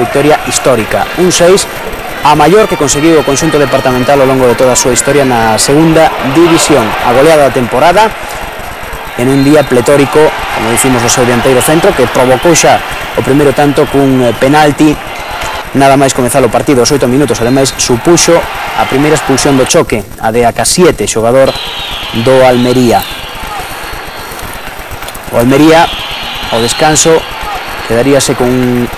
victoria histórica, un 6 a maior que conseguiu o conxunto departamental ao longo de toda a súa historia na segunda división. A goleada da temporada en un día pletórico, como dicimos, do seu dianteiro centro, que provocou xa o primeiro tanto cun penalti nada máis comezar o partido aos 8 minutos. Ademais, supuxo a primeira expulsión do choque, a de AK7, xogador do Almería. O Almería, ao descanso, quedaríase con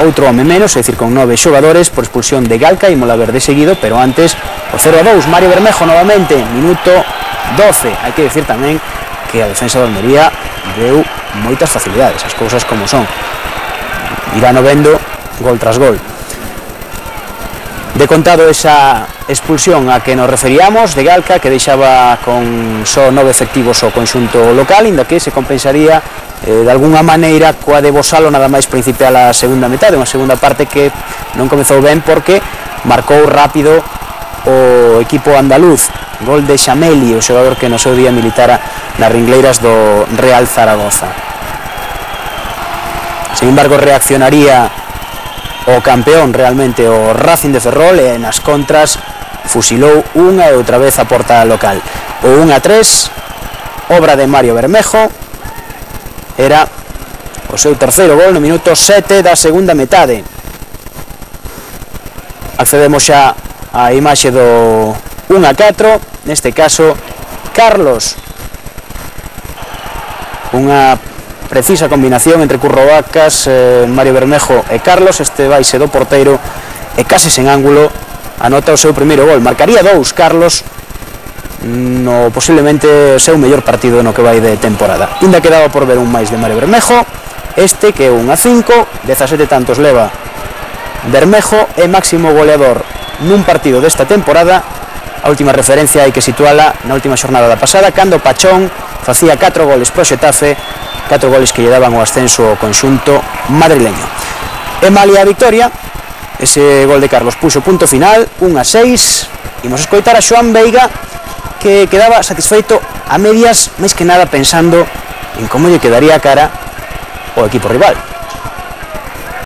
outro home menos, é dicir, con 9 xogadores por expulsión de Galca, ímola ver de seguido, pero antes o 0-2, Mario Bermejo novamente, minuto 12. Hai que decir tamén que a defensa do Almería deu moitas facilidades, as cousas como son. Irá vendo gol tras gol. De contado esa expulsión a que nos referíamos de Galca, que deixaba con só 9 efectivos o conxunto local, inda que se compensaría de alguna maneira coa de Bosalo nada máis principial a segunda metade, unha segunda parte que non comezou ben porque marcou rápido o equipo andaluz, gol de Xameli, o xogador que no seu día militara nas ringleiras do Real Zaragoza. Sin embargo, reaccionaría o campeón realmente, o Racing de Ferrol, e nas contras fusilou unha e outra vez a porta local. O 1-3, obra de Mario Bermejo, era o seu terceiro gol no minuto 7 da segunda metade. Accedemos xa á imaxe do 1-4, neste caso Carlos, unha precisa combinación entre Currovacas, Mario Bermejo e Carlos. Este vaise do porteiro e case sen ángulo anota o seu primeiro gol. Marcaría 2 Carlos no posiblemente o seu mellor partido no que vai de temporada. Ainda quedaba por ver un máis de Mario Bermejo, este que é 1-5, 17 tantos leva Bermejo, é máximo goleador nun partido desta temporada. A última referencia hai que situala na última xornada da pasada, cando Pachón facía 4 goles pro Xetafe, 4 goles que lle daban o ascenso ao conxunto madrileño. E malia a victoria, ese gol de Carlos puxo punto final, 1-6. Imos escoitar a Xoán Veiga, que quedaba satisfeito a medias, máis que nada pensando en como lle quedaría a cara o equipo rival.